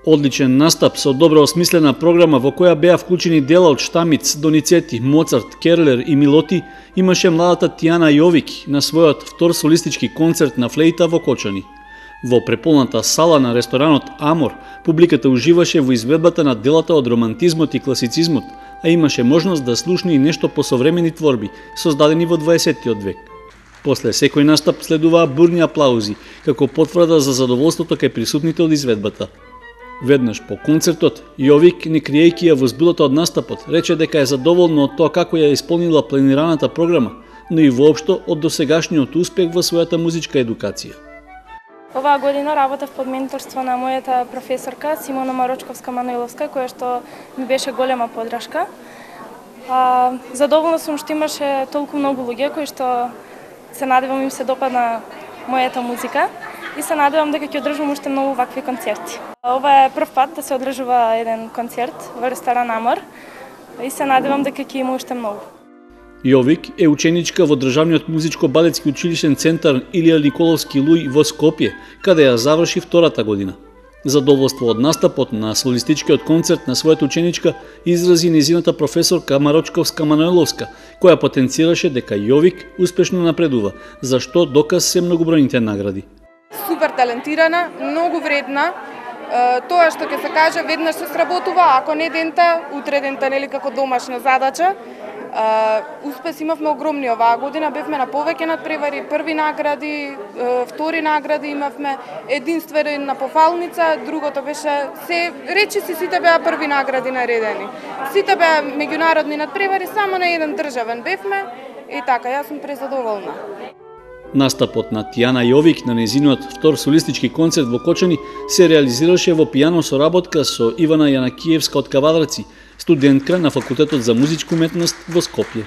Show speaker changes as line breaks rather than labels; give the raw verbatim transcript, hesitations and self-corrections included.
Одличен настап со добро осмислена програма во која беа вклучени дела од Штамиц, Доницети, Моцарт, Керлер и Милоти, имаше младата Тијана Јовик на својот втор солистички концерт на флејта во Кочани. Во преполната сала на ресторанот Амор, публиката уживаше во изведбата на делата од романтизмот и класицизмот, а имаше можност да слушне и нешто по современи творби, создадени во дваесеттиот век. После секој настап следуваа бурни аплаузи, како потврда за задоволството кај присутните од изведбата. Веднаш по концертот, Јовик, не криејќи ја возбудата од настапот, рече дека е задоволна од тоа како ја исполнила планираната програма, но и воопшто од досегашниот успех во својата музичка едукација.
Оваа година работев под менторство на мојата професорка Симона Марочковска-Мануиловска, која што ми беше голема подршка. А, задоволна сум што имаше толку многу луѓе кои што се надевам им се допадна мојата музика и се надевам дека ќе одржам уште многу вакви концерти. Ова е прв пат да се одржува еден концерт во ресторан Амор и се надевам дека ќе има уште многу.
Јовик е ученичка во Државниот музичко-балетски училишен центар Илија Николовски Луј во Скопје, каде ја заврши втората година. Задоволство од настапот на солистичкиот концерт на својата ученичка изрази незината професорка Марочковска-Мануиловска, која потенцираше дека Јовик успешно напредува, за што доказ се многобројните награди.
Супер талентирана, многу вредна. Тоа што ќе се каже веднаш се сработува, ако не дента, утре дента, нели како домашна задача. Uh, успес имавме огромни оваа година, бевме на повеќе надпревари, први награди, uh, втори награди имавме, единствен на пофалница, другото беше се речи си сите беа први награди наредени. Сите беа меѓународни надпревари, само на еден државен бевме и така, јас сум презадоволна.
Настапот на Тијана Јовик на незиниот втор солистички концерт во Кочани се реализираше во пијано соработка со Ивана Јанакиевска од Кавадарци, студентка на Факултетот за музичка уметност во Скопје.